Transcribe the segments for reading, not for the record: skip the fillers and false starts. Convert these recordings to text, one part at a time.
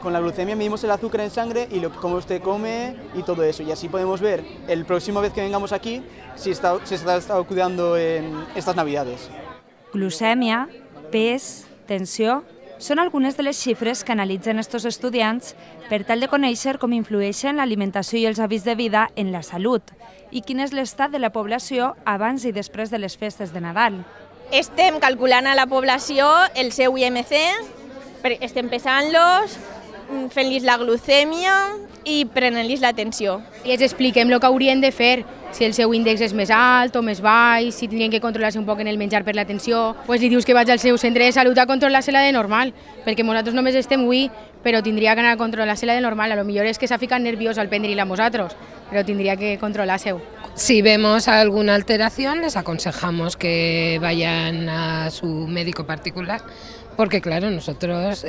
con la glucemia medimos el azúcar en sangre y cómo usted come y todo eso. Y así podemos ver el próximo vez que vengamos aquí si se está cuidando en estas Navidades. Glucèmia, pes, tensió, són algunes de les xifres que analitzen estos estudiants per tal de conèixer com influeixen l'alimentació i els hàbits de vida en la salut i quin és l'estat de la població abans i després de les festes de Nadal. Estem calculant a la població el seu IMC, estem pesant-los, fent-los la glucèmia i prenent-los la tensió. I els expliquem el que haurien de fer, si el seu índex és més alt o més baix, si tindrien que controlar-se un poc en el menjar per la tensió. Pues li dius que vaig al seu centre de salut a controlar-se-la de normal, perquè nosaltres només estem avui, però tindria que anar a controlar-se-la de normal. A lo millor és que s'ha ficat nerviós al prendre-la a nosaltres, però tindria que controlar-se-ho. Si vemos alguna alteración, les aconsejamos que vayan a su médico particular, porque claro, nosotros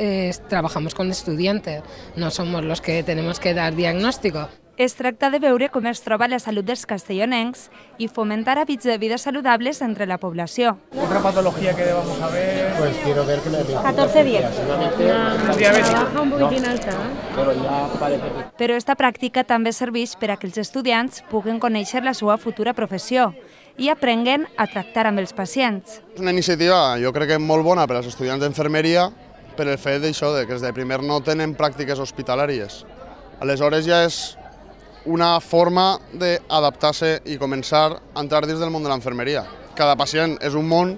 trabajamos con estudiantes, no somos los que tenemos que dar diagnóstico. Es tracta de veure com es troba la salut dels castellonencs i fomentar hàbits de vida saludables entre la població. ¿Otra patología que debamos saber? Pues quiero ver que la 14 días. Baja un poquitín alta. Pero ya parece que... Però esta pràctica també serveix per a que els estudiants puguen conèixer la seva futura professió i aprenguen a tractar amb els pacients. És una iniciativa, jo crec que molt bona per als estudiants d'infermeria per el fet d'això, que des de primer no tenen pràctiques hospitalàries. Aleshores ja és una forma d'adaptar-se i començar a entrar dins del món de l'enfermeria. Cada pacient és un món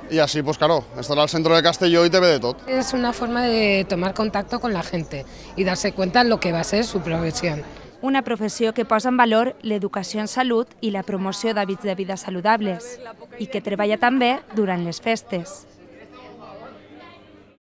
y así, pues claro, estar al centro de Castelló y te ve de todo. Es una forma de tomar contacto con la gente y darse cuenta de lo que va a ser su profesión. Una professió que posa en valor l'educació en salut i la promoció d'hàbits de vida saludables i que treballa també durant les festes.